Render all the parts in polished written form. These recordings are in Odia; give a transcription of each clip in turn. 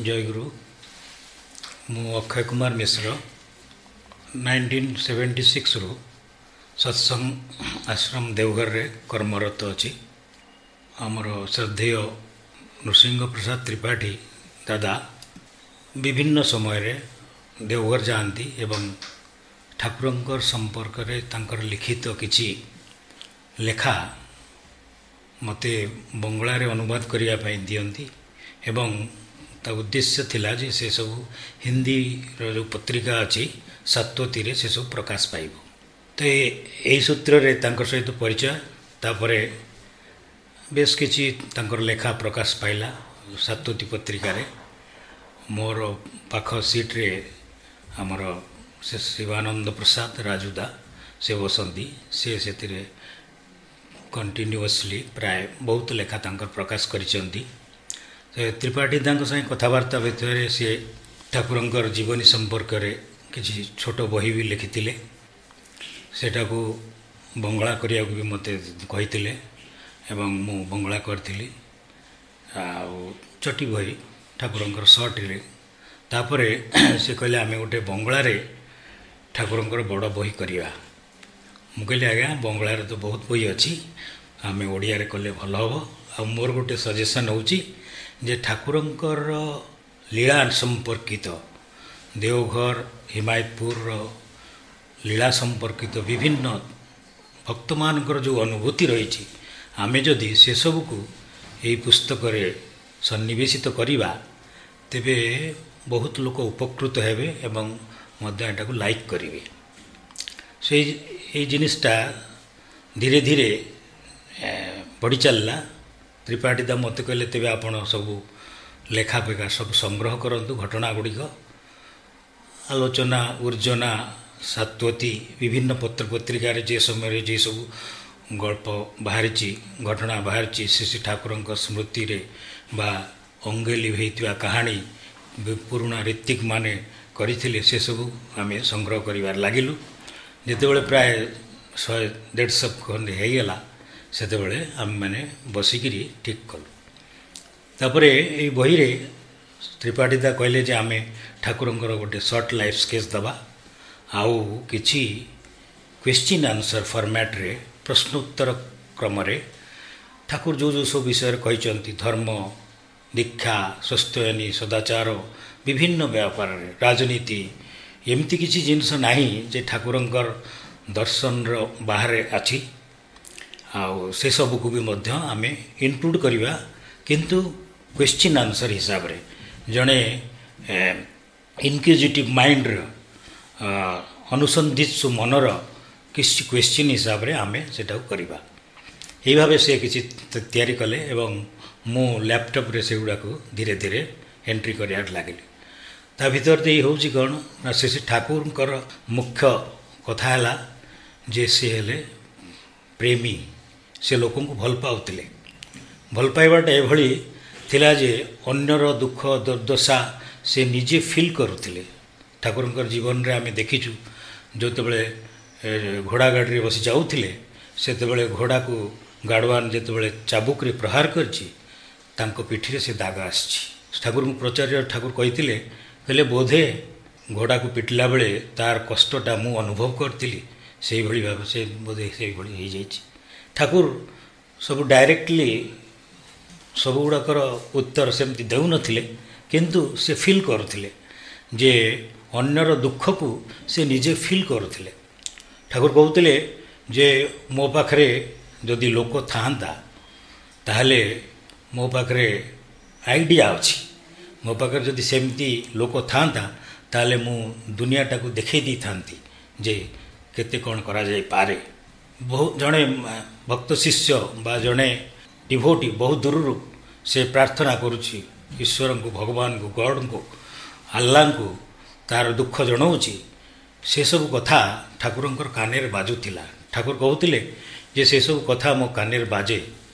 ଜୟଗୁରୁ। ମୁଁ ଅକ୍ଷୟ କୁମାର ମିଶ୍ର, 1976ରୁ ସତ୍ସଙ୍ଗ ଆଶ୍ରମ ଦେଓଘରରେ କର୍ମରତ ଅଛି। ଆମର ଶ୍ରଦ୍ଧେୟ ନୃସିଂହ ପ୍ରସାଦ ତ୍ରିପାଠୀ ଦାଦା ବିଭିନ୍ନ ସମୟରେ ଦେଓଘର ଯାଆନ୍ତି ଏବଂ ଠାକୁରଙ୍କର ସମ୍ପର୍କରେ ତାଙ୍କର ଲିଖିତ କିଛି ଲେଖା ମୋତେ ବଙ୍ଗଳାରେ ଅନୁବାଦ କରିବା ପାଇଁ ଦିଅନ୍ତି ଏବଂ ତା ଉଦ୍ଦେଶ୍ୟ ଥିଲା ଯେ ସେସବୁ ହିନ୍ଦୀର ଯେଉଁ ପତ୍ରିକା ଅଛି ସାତ୍ୱତୀରେ ସେସବୁ ପ୍ରକାଶ ପାଇବ। ତ ଏହି ସୂତ୍ରରେ ତାଙ୍କ ସହିତ ପରିଚୟ, ତାପରେ ବେଶ କିଛି ତାଙ୍କର ଲେଖା ପ୍ରକାଶ ପାଇଲା ସାତ୍ୱତୀ ପତ୍ରିକାରେ। ମୋର ପାଖ ସିଟ୍ରେ ଆମର ସେ ଶିବାନନ୍ଦ ପ୍ରସାଦ ରାଜୁଦା ସେ ବସନ୍ତି, ସେ ସେଥିରେ କଣ୍ଟିନ୍ୟୁଅସଲି ପ୍ରାୟ ବହୁତ ଲେଖା ତାଙ୍କର ପ୍ରକାଶ କରିଛନ୍ତି। ସେ ତ୍ରିପାଠୀ ତାଙ୍କ ସାଙ୍ଗେ କଥାବାର୍ତ୍ତା ଭିତରେ ସିଏ ଠାକୁରଙ୍କର ଜୀବନୀ ସମ୍ପର୍କରେ କିଛି ଛୋଟ ବହି ବି ଲେଖିଥିଲେ, ସେଟାକୁ ବଙ୍ଗଳା କରିବାକୁ ବି ମୋତେ କହିଥିଲେ ଏବଂ ମୁଁ ବଙ୍ଗଳା କରିଥିଲି, ଆଉ ଚଟି ବହି ଠାକୁରଙ୍କର ସର୍ଟରେ। ତାପରେ ସେ କହିଲେ ଆମେ ଗୋଟେ ବଙ୍ଗଳାରେ ଠାକୁରଙ୍କର ବଡ଼ ବହି କରିବା। ମୁଁ କହିଲି ଆଜ୍ଞା ବଙ୍ଗଳାରେ ତ ବହୁତ ବହି ଅଛି, ଆମେ ଓଡ଼ିଆରେ କଲେ ଭଲ ହେବ। ଆଉ ମୋର ଗୋଟେ ସଜେସନ୍ ହେଉଛି ଯେ ଠାକୁରଙ୍କର ଲୀଳା ସମ୍ପର୍କିତ ଦେଓଘର ହିମାୟତପୁରର ଲୀଳା ସମ୍ପର୍କିତ ବିଭିନ୍ନ ଭକ୍ତମାନଙ୍କର ଯେଉଁ ଅନୁଭୂତି ରହିଛି, ଆମେ ଯଦି ସେସବୁକୁ ଏହି ପୁସ୍ତକରେ ସନ୍ନିବେଶିତ କରିବା ତେବେ ବହୁତ ଲୋକ ଉପକୃତ ହେବେ ଏବଂ ମଧ୍ୟ ଏଟାକୁ ଲାଇକ୍ କରିବେ। ସେଇ ଏଇ ଜିନିଷଟା ଧୀରେ ଧୀରେ ବଢ଼ି ଚାଲିଲା। ତ୍ରିପାଠୀ ଦା ମୋତେ କହିଲେ ତେବେ ଆପଣ ସବୁ ଲେଖା ଫେଖା ସବୁ ସଂଗ୍ରହ କରନ୍ତୁ, ଘଟଣା ଗୁଡ଼ିକ ଆଲୋଚନା ଉର୍ଜନା ସାତ୍ୱତୀ ବିଭିନ୍ନ ପତ୍ରପତ୍ରିକାରେ ଯେ ସମୟରେ ଯେ ସବୁ ଗଳ୍ପ ବାହାରିଛି, ଘଟଣା ବାହାରିଛି, ଶ୍ରୀ ଶ୍ରୀ ଠାକୁରଙ୍କ ସ୍ମୃତିରେ ବା ଅଙ୍ଗେ ଲିଭେଇଥିବା କାହାଣୀ ପୁରୁଣା ଋତ୍ୱିକ୍ ମାନେ କରିଥିଲେ, ସେସବୁ ଆମେ ସଂଗ୍ରହ କରିବାରେ ଲାଗିଲୁ। ଯେତେବେଳେ ପ୍ରାୟ 100-150 ଖଣ୍ଡେ ହେଇଗଲା ସେତେବେଳେ ଆମେମାନେ ବସିକିରି ଠିକ୍ କଲୁ। ତାପରେ ଏଇ ବହିରେ ତ୍ରିପାଠୀ ଦା କହିଲେ ଯେ ଆମେ ଠାକୁରଙ୍କର ଗୋଟେ ସର୍ଟ ଲାଇଫ୍ ସ୍କେଚ୍ ଦେବା ଆଉ କିଛି କ୍ୱେଶ୍ଚିନ୍ ଆନ୍ସର୍ ଫର୍ମାଟ୍ରେ ପ୍ରଶ୍ନୋତ୍ତର କ୍ରମରେ ଠାକୁର ଯେଉଁ ଯେଉଁ ସବୁ ବିଷୟରେ କହିଛନ୍ତି, ଧର୍ମ, ଦୀକ୍ଷା, ସ୍ୱସ୍ତୟନୀ, ସଦାଚାର, ବିଭିନ୍ନ ବ୍ୟାପାରରେ, ରାଜନୀତି, ଏମିତି କିଛି ଜିନିଷ ନାହିଁ ଯେ ଠାକୁରଙ୍କର ଦର୍ଶନର ବାହାରେ ଅଛି। ଆଉ ସେସବୁକୁ ବି ମଧ୍ୟ ଆମେ ଇନକ୍ଲୁଡ଼ କରିବା, କିନ୍ତୁ କ୍ୱେଶ୍ଚିନ୍ ଆନ୍ସର୍ ହିସାବରେ ଜଣେ ଇନକ୍ୟୁଜିଟିଭ୍ ମାଇଣ୍ଡର ଅନୁସନ୍ଧିତ୍ସୁ ମନର କିଛି କ୍ୱେଶ୍ଚିନ୍ ହିସାବରେ ଆମେ ସେଟାକୁ କରିବା। ଏହି ଭାବେ ସେ କିଛି ତିଆରି କଲେ ଏବଂ ମୁଁ ଲ୍ୟାପଟପ୍ରେ ସେଗୁଡ଼ାକୁ ଧୀରେ ଧୀରେ ଏଣ୍ଟ୍ରି କରିବାରେ ଲାଗିଲି। ତା ଭିତରେ ଦେଇ ହେଉଛି କ'ଣ ନା ଶ୍ରୀ ଶ୍ରୀ ଠାକୁରଙ୍କର ମୁଖ୍ୟ କଥା ହେଲା ଯେ ସେ ହେଲେ ପ୍ରେମୀ, ସେ ଲୋକଙ୍କୁ ଭଲ ପାଉଥିଲେ। ଭଲ ପାଇବାଟା ଏଭଳି ଥିଲା ଯେ ଅନ୍ୟର ଦୁଃଖ ଦୁର୍ଦ୍ଦଶା ସେ ନିଜେ ଫିଲ୍ କରୁଥିଲେ। ଠାକୁରଙ୍କର ଜୀବନରେ ଆମେ ଦେଖିଛୁ ଯେତେବେଳେ ଘୋଡ଼ା ଗାଡ଼ିରେ ବସି ଯାଉଥିଲେ ସେତେବେଳେ ଘୋଡ଼ାକୁ ଗାଡ଼ୱାନ ଯେତେବେଳେ ଚାବୁକରେ ପ୍ରହାର କରିଛି ତାଙ୍କ ପିଠିରେ ସେ ଦାଗ ଆସିଛି। ଠାକୁରଙ୍କୁ ପଚାରିବା ଠାକୁର କହିଥିଲେ, କହିଲେ ବୋଧେ ଘୋଡ଼ାକୁ ପିଟିଲା ବେଳେ ତାର କଷ୍ଟଟା ମୁଁ ଅନୁଭବ କରିଥିଲି, ସେଇଭଳି ଭାବେ ସେ ବୋଧେ ସେଇଭଳି ହେଇଯାଇଛି। ଠାକୁର ସବୁ ଡାଇରେକ୍ଟଲି ସବୁଗୁଡ଼ାକର ଉତ୍ତର ସେମିତି ଦେଉନଥିଲେ, କିନ୍ତୁ ସେ ଫିଲ୍ କରୁଥିଲେ ଯେ ଅନ୍ୟର ଦୁଃଖକୁ ସେ ନିଜେ ଫିଲ୍ କରୁଥିଲେ। ଠାକୁର କହୁଥିଲେ ଯେ ମୋ ପାଖରେ ଯଦି ଲୋକ ଥାଆନ୍ତା ତାହେଲେ ମୋ ପାଖରେ ଆଇଡ଼ିଆ ଅଛି, ମୋ ପାଖରେ ଯଦି ସେମିତି ଲୋକ ଥାଆନ୍ତା ତାହେଲେ ମୁଁ ଦୁନିଆଟାକୁ ଦେଖାଇ ଦେଇଥାନ୍ତି ଯେ କେତେ କ'ଣ କରାଯାଇପାରେ। ବହୁ ଜଣେ ଭକ୍ତ ଶିଷ୍ୟ ବା ଜଣେ ଡିଭୋଟି ବହୁତ ଦୂରରୁ ସେ ପ୍ରାର୍ଥନା କରୁଛି ଈଶ୍ୱରଙ୍କୁ, ଭଗବାନଙ୍କୁ, ଗଡ଼ଙ୍କୁ, ଆଲ୍ଲାଙ୍କୁ, ତାର ଦୁଃଖ ଜଣାଉଛି। ସେସବୁ କଥା ଠାକୁରଙ୍କର କାନରେ ବାଜୁଥିଲା। ଠାକୁର କହୁଥିଲେ ଯେ ସେସବୁ କଥା ମୋ କାନରେ ବାଜେ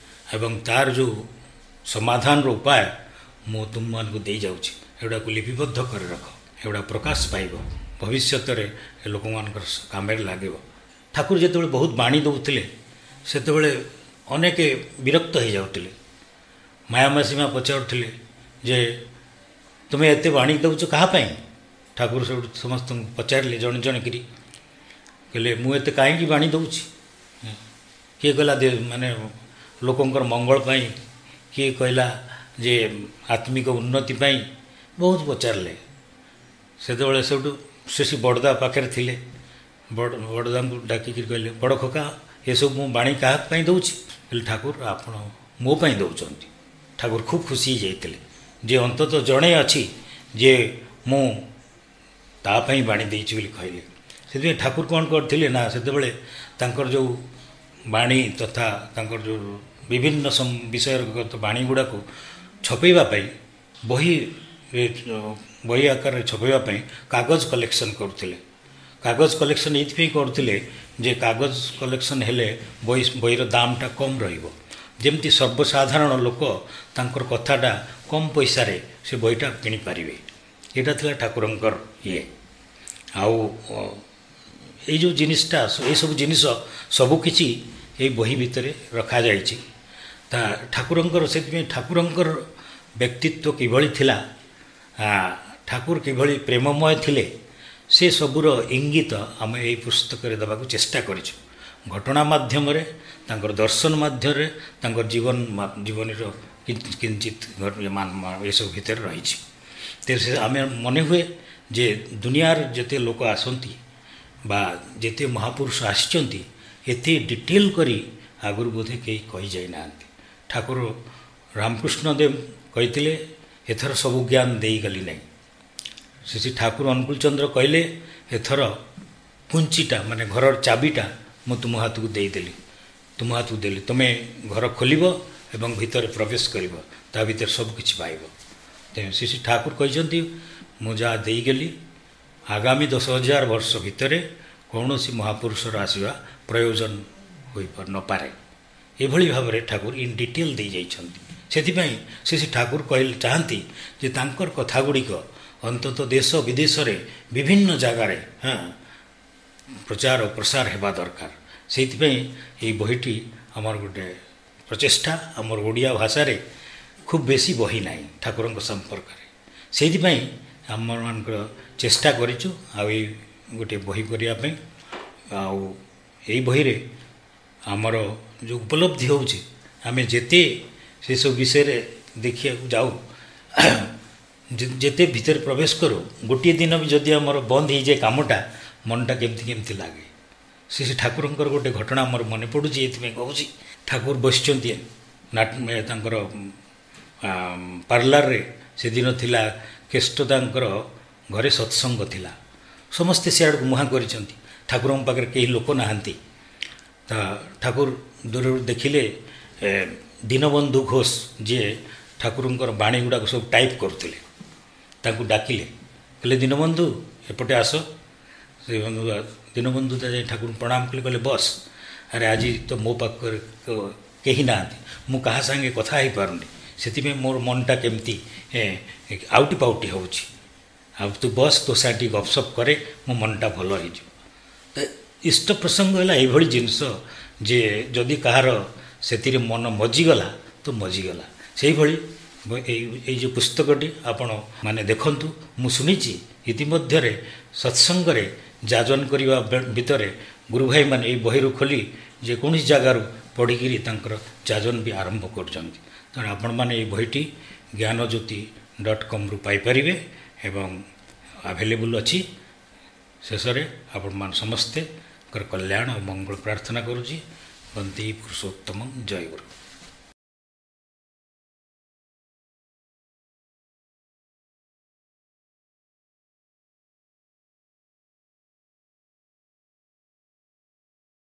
ଏବଂ ତାର ଯେଉଁ ସମାଧାନର ଉପାୟ ମୁଁ ତୁମମାନଙ୍କୁ ଦେଇଯାଉଛି, ଏଗୁଡ଼ାକୁ ଲିପିବଦ୍ଧ କରି ରଖ, ଏଗୁଡ଼ା ପ୍ରକାଶ ପାଇବ, ଭବିଷ୍ୟତରେ ଲୋକମାନଙ୍କର କାମରେ ଲାଗିବ। ଠାକୁର ଯେତେବେଳେ ବହୁତ ବାଣୀ ଦେଉଥିଲେ ସେତେବେଳେ ଅନେକ ବିରକ୍ତ ହେଇଯାଉଥିଲେ। ମାୟାମାସୀମା ପଚାରୁଥିଲେ ଯେ ତୁମେ ଏତେ ବାଣୀ ଦେଉଛ କାହା ପାଇଁ? ଠାକୁର ସେଠୁ ସମସ୍ତଙ୍କୁ ପଚାରିଲେ ଜଣେ ଜଣେ କରି, କହିଲେ ମୁଁ ଏତେ କାହିଁକି ବାଣୀ ଦେଉଛି? କିଏ କହିଲା ମାନେ ଲୋକଙ୍କର ମଙ୍ଗଳ ପାଇଁ, କିଏ କହିଲା ଯେ ଆତ୍ମିକ ଉନ୍ନତି ପାଇଁ, ବହୁତ ପଚାରିଲେ। ସେତେବେଳେ ସେଠୁ ସେ ବଡ଼ଦା ପାଖରେ ଥିଲେ, ବଡ଼ଦାଙ୍କୁ ଡାକିକିରି କହିଲେ, ବଡ଼ ଖୋକା, ଏସବୁ ମୁଁ ବାଣୀ କାହା ପାଇଁ ଦେଉଛି? କହିଲେ ଠାକୁର ଆପଣ ମୋ ପାଇଁ ଦେଉଛନ୍ତି। ଠାକୁର ଖୁବ୍ ଖୁସି ହେଇଯାଇଥିଲେ ଯେ ଅନ୍ତତଃ ଜଣେ ଅଛି ଯେ ମୁଁ ତା ପାଇଁ ବାଣୀ ଦେଇଛି ବୋଲି କହିଲେ। ସେଥିପାଇଁ ଠାକୁର କ'ଣ କରିଥିଲେ ନା, ସେତେବେଳେ ତାଙ୍କର ଯେଉଁ ବାଣୀ ତଥା ତାଙ୍କର ଯେଉଁ ବିଭିନ୍ନ ବିଷୟଗତ ବାଣୀ ଗୁଡ଼ାକୁ ଛପେଇବା ପାଇଁ, ବହି ଆକାରରେ ଛପେଇବା ପାଇଁ କାଗଜ କଲେକ୍ସନ୍ କରୁଥିଲେ। କାଗଜ କଲେକ୍ସନ୍ ଏଇଥିପାଇଁ କରୁଥିଲେ ଯେ କାଗଜ କଲେକ୍ସନ୍ ହେଲେ ବହିର ଦାମଟା କମ୍ ରହିବ, ଯେମିତି ସର୍ବସାଧାରଣ ଲୋକ ତାଙ୍କର କଥାଟା କମ୍ ପଇସାରେ ସେ ବହିଟା କିଣିପାରିବେ। ଏଇଟା ଥିଲା ଠାକୁରଙ୍କର ଇଏ। ଆଉ ଏଇ ଯେଉଁ ଜିନିଷଟା, ଏଇସବୁ ଜିନିଷ ସବୁକିଛି ଏଇ ବହି ଭିତରେ ରଖାଯାଇଛି। ତା ଠାକୁରଙ୍କର, ସେଥିପାଇଁ ଠାକୁରଙ୍କର ବ୍ୟକ୍ତିତ୍ୱ କିଭଳି ଥିଲା, ଠାକୁର କିଭଳି ପ୍ରେମମୟ ଥିଲେ, ସେ ସବୁର ଇଙ୍ଗିତ ଆମେ ଏଇ ପୁସ୍ତକରେ ଦେବାକୁ ଚେଷ୍ଟା କରିଛୁ। ଘଟଣା ମାଧ୍ୟମରେ, ତାଙ୍କର ଦର୍ଶନ ମାଧ୍ୟମରେ, ତାଙ୍କର ଜୀବନୀର କିଞ୍ଚିତ ଏସବୁ ଭିତରେ ରହିଛି। ତେଣୁ ସେ ଆମେ ମନେ ହୁଏ ଯେ ଦୁନିଆର ଯେତେ ଲୋକ ଆସନ୍ତି ବା ଯେତେ ମହାପୁରୁଷ ଆସିଛନ୍ତି, ଏତେ ଡିଟେଲ୍ କରି ଆଗରୁ ବୋଧେ କେହି କହିଯାଇନାହାନ୍ତି। ଠାକୁର ରାମକୃଷ୍ଣ ଦେବ କହିଥିଲେ, ଏଥର ସବୁ ଜ୍ଞାନ ଦେଇଗଲି ନାହିଁ। ସେ ଠାକୁର ଅନୁକୂଳ ଚନ୍ଦ୍ର କହିଲେ, ଏଥର କୁଞ୍ଚିଟା ମାନେ ଘରର ଚାବିଟା ମୁଁ ତୁମ ହାତକୁ ଦେଇଦେଲି, ତୁମ ହାତକୁ ଦେଲି, ତୁମେ ଘର ଖୋଲିବ ଏବଂ ଭିତରେ ପ୍ରବେଶ କରିବ, ତା ଭିତରେ ସବୁ କିଛି ପାଇବ। ତେଣୁ ଶ୍ରୀ ଠାକୁର କହିଛନ୍ତି, ମୁଁ ଯାହା ଦେଇଗଲି, ଆଗାମୀ 10,000 ବର୍ଷ ଭିତରେ କୌଣସି ମହାପୁରୁଷର ଆସିବା ପ୍ରୟୋଜନ ହୋଇପାରୁ ନପାରେ। ଏଭଳି ଭାବରେ ଠାକୁର ଇନ୍ ଡିଟେଲ୍ ଦେଇଯାଇଛନ୍ତି। ସେଥିପାଇଁ ଶ୍ରୀ ଠାକୁର କହିଲେ ଚାହାନ୍ତି ଯେ ତାଙ୍କର କଥା ଗୁଡ଼ିକ ଅନ୍ତତଃ ଦେଶ ବିଦେଶରେ ବିଭିନ୍ନ ଜାଗାରେ ପ୍ରଚାର ଓ ପ୍ରସାର ହେବା ଦରକାର। ସେଇଥିପାଇଁ ଏଇ ବହିଟି ଆମର ଗୋଟେ ପ୍ରଚେଷ୍ଟା। ଆମର ଓଡ଼ିଆ ଭାଷାରେ ଖୁବ୍ ବେଶୀ ବହି ନାହିଁ ଠାକୁରଙ୍କ ସମ୍ପର୍କରେ, ସେଇଥିପାଇଁ ଆମମାନଙ୍କର ଚେଷ୍ଟା କରିଛୁ ଆଉ ଏଇ ଗୋଟିଏ ବହି କରିବା ପାଇଁ। ଆଉ ଏଇ ବହିରେ ଆମର ଯେଉଁ ଉପଲବ୍ଧି ହେଉଛି, ଆମେ ଯେତେ ସେସବୁ ବିଷୟରେ ଦେଖିବାକୁ ଯାଉ, ଯେତେ ଭିତରେ ପ୍ରବେଶ କରୁ, ଗୋଟିଏ ଦିନ ବି ଯଦି ଆମର ବନ୍ଦ ହେଇଯାଏ କାମଟା, ମନଟା କେମିତି କେମିତି ଲାଗେ। ସେ ଠାକୁରଙ୍କର ଗୋଟେ ଘଟଣା ମୋର ମନେ ପଡ଼ୁଛି, ଏଥିପାଇଁ କହୁଛି। ଠାକୁର ବସିଛନ୍ତି ତାଙ୍କର ପାର୍ଲାରରେ। ସେଦିନ ଥିଲା କେଷ୍ଟଦାଙ୍କର ଘରେ ସତ୍ସଙ୍ଗ ଥିଲା, ସମସ୍ତେ ସିଆଡ଼କୁ ମୁହାଁ କରିଛନ୍ତି, ଠାକୁରଙ୍କ ପାଖରେ କେହି ଲୋକ ନାହାନ୍ତି। ତା ଠାକୁର ଦୂରରୁ ଦେଖିଲେ ଦୀନବନ୍ଧୁ ଘୋଷ, ଯିଏ ଠାକୁରଙ୍କର ବାଣୀ ଗୁଡ଼ାକ ସବୁ ଟାଇପ୍ କରୁଥିଲେ, ତାଙ୍କୁ ଡାକିଲେ, କହିଲେ ଦୀନବନ୍ଧୁ ଏପଟେ ଆସ। ସେ ଦୀନବନ୍ଧୁ ଯାଇ ଠାକୁରଙ୍କୁ ପ୍ରଣାମ କଲେ, କହିଲେ ବସ୍, ଆରେ ଆଜି ତ ମୋ ପାଖରେ କେହି ନାହାନ୍ତି, ମୁଁ କାହା ସାଙ୍ଗେ କଥା ହେଇପାରୁନି, ସେଥିପାଇଁ ମୋର ମନଟା କେମିତି ଆଉଟି ପାଉଟି ହେଉଛି, ଆଉ ତୁ ବସ୍, ତୋ ସାଙ୍ଗେ ଟିକେ ଗପସପ କରେ, ମୋ ମନଟା ଭଲ ହେଇଯିବ। ତ ଇଷ୍ଟ ପ୍ରସଙ୍ଗ ହେଲା ଏଇଭଳି ଜିନିଷ ଯେ ଯଦି କାହାର ସେଥିରେ ମନ ମଜିଗଲା ତ ମଜିଗଲା। ସେଇଭଳି ଏଇ ଯେଉଁ ପୁସ୍ତକଟି ଆପଣ ମାନେ ଦେଖନ୍ତୁ, ମୁଁ ଶୁଣିଛି ଇତିମଧ୍ୟରେ ସତ୍ସଙ୍ଗରେ ଯାଜନ କରିବା ଭିତରେ ଗୁରୁଭାଇମାନେ ଏଇ ବହିରୁ ଖୋଲି ଯେକୌଣସି ଜାଗାରୁ ପଢ଼ିକିରି ତାଙ୍କର ଯାଜନ ବି ଆରମ୍ଭ କରୁଛନ୍ତି। ତେଣୁ ଆପଣମାନେ ଏଇ ବହିଟି ଜ୍ଞାନଜ୍ୟୋତି.comରୁ ପାଇପାରିବେ ଏବଂ ଆଭେଲେବୁଲ୍ ଅଛି। ଶେଷରେ ଆପଣମାନେ ସମସ୍ତେଙ୍କର କଲ୍ୟାଣ ଓ ମଙ୍ଗଳ ପ୍ରାର୍ଥନା କରୁଛି। ବନ୍ଦେ ପୁରୁଷୋତ୍ତମ, ଜୟ ଗୁରୁ।